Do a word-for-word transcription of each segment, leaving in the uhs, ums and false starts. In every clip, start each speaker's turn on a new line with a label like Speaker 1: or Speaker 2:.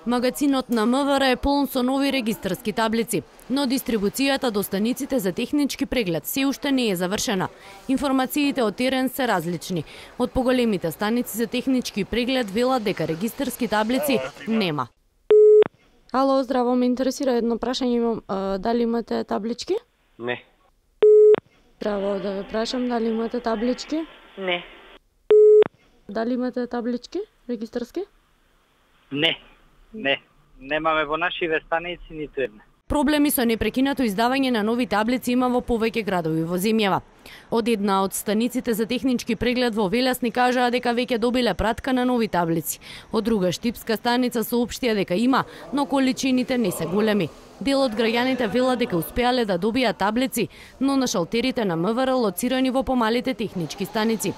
Speaker 1: Магазинот на МВР е полн со нови регистарски таблици, но дистрибуцијата до станиците за технички преглед се уште не е завршена. Информациите од терен се различни. Од поголемите станици за технички преглед велат дека регистарски таблици нема.
Speaker 2: Ало, здраво, ме интересира едно прашање имам. А, дали имате таблички?
Speaker 3: Не.
Speaker 2: Здраво, да ве прашам, дали имате таблички?
Speaker 3: Не.
Speaker 2: Дали имате таблички регистарски?
Speaker 3: Не. Не. Немаме во нашиве станици ниту една.
Speaker 1: Проблеми со непрекинато издавање на нови таблици има во повеќе градови во земјава. Од една од станиците за технички преглед во Велес ни кажаа дека веќе добиле пратка на нови таблици. Од друга штипска станица соопштија дека има, но количините не се големи. Дел од граѓаните велат дека успеале да добијат таблици, но на шалтерите на МВР лоцирани во помалите технички станици.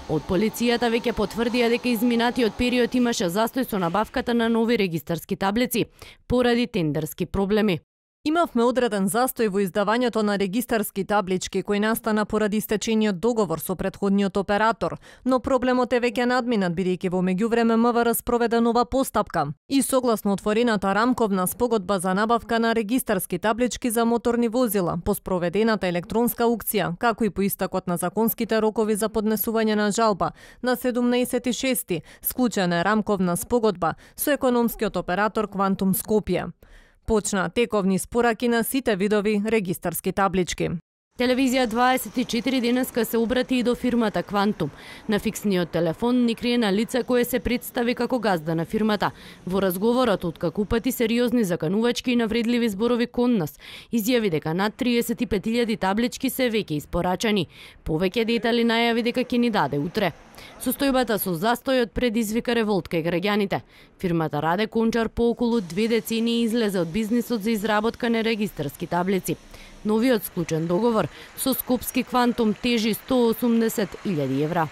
Speaker 1: Од полицијата веќе потврдија дека изминатиот период имаше застој со набавката на нови регистарски таблици поради тендерски проблеми.
Speaker 4: Имавме одреден застој во издавањето на регистарски таблички кој настана поради истечениот договор со претходниот оператор, но проблемот е веќе надминат бидејќи во меѓувреме МВР спроведе нова постапка и согласно отворената рамковна спогодба за набавка на регистарски таблички за моторни возила по спроведената електронска аукција, како и по истакот на законските рокови за поднесување на жалба на седумнаесети шести склучена е рамковна спогодба со економскиот оператор Квантум Скопје. Почна тековни спораки на сите видови регистарски таблички.
Speaker 1: Телевизија дваесет и четири денеска се обрати и до фирмата Квантум. На фиксниот телефон ни криена лице кое се представи како газда на фирмата. Во разговорот откако упати сериозни заканувачки и навредливи зборови кон нас, изјави дека над триесет и пет илјади таблички се веќе испорачани. Повеќе детали најави дека ќе ни даде утре. Состојбата со застојот предизвика револт кај граѓаните. Фирмата Раде Кончар по околу две децении излезе од бизнисот за изработка на регистарски таблици. Новиот склучен договор со Скопски Квантум тежи сто осумдесет илјади евра.